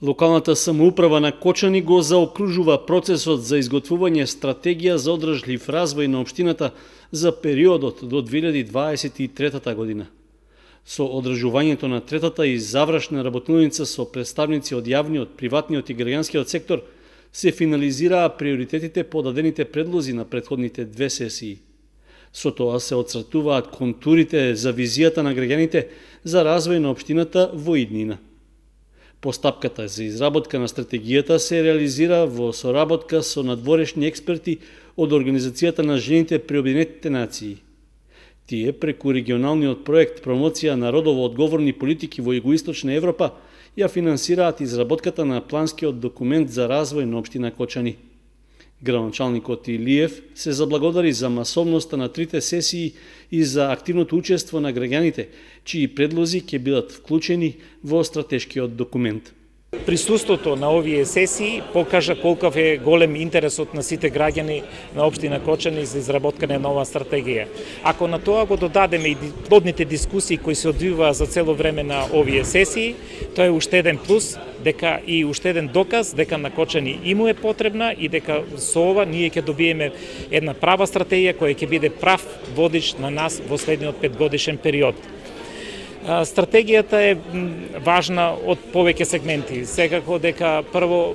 Локалната самоуправа на Кочани го заокружува процесот за изготвување стратегија за одржлив развој на општината за периодот до 2023 година. Со одржувањето на третата и завршна работилница со представници од јавниот, приватниот и граѓанскиот сектор се финализираа приоритетите по дадените предлози на претходните две сесии. Со тоа се отцртуваат контурите за визијата на граѓаните за развој на општината во иднина. Постапката за изработка на стратегијата се реализира во соработка со надворешни експерти од Организацијата на жените при Обединетите нации. Тие преку регионалниот проект Промоција на родово одговорни политики во Југоисточна Европа ја финансираат изработката на планскиот документ за развој на општина Кочани. Градоначалникот Илиев се заблагодари за масовноста на трите сесии и за активното учество на граѓаните, чии предлози ќе бидат вклучени во стратешкиот документ. Присуството на овие сесии покажа колков е голем интересот на сите граѓани на општина Кочани за изработкање на нова стратегија. Ако на тоа го додадеме и плодните дискусии кои се одвиваа за цело време на овие сесии, тоа е уште еден плюс, дека и уште еден доказ дека на Кочани и му е потребна и дека со ова ние ќе добиеме една права стратегија која ќе биде прав водич на нас во следниот 5-годишен период. Стратегијата е важна од повеќе сегменти. Секако дека прво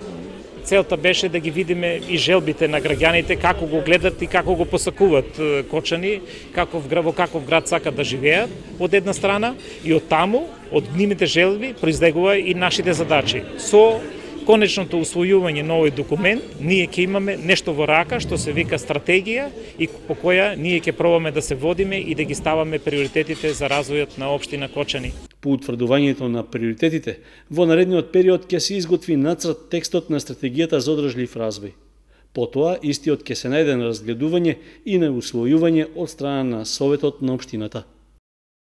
целта беше да ги видиме и желбите на граѓаните, како го гледат и како го посакуваат Кочани, во каков град сакат да живеат, од една страна, и од таму, од нивните желби, произлегува и нашите задачи. Со конечното усвојување на овој документ, ние ќе имаме нешто во рака што се вика стратегија и по која ние ќе пробаме да се водиме и да ги ставаме приоритетите за развојот на општина Кочани. По утврдувањето на приоритетите, во наредниот период ќе се изготви нацрт текстот на стратегијата за одржлив развој. Потоа, истиот ќе се најде на разгледување и на усвојување од страна на Советот на општината.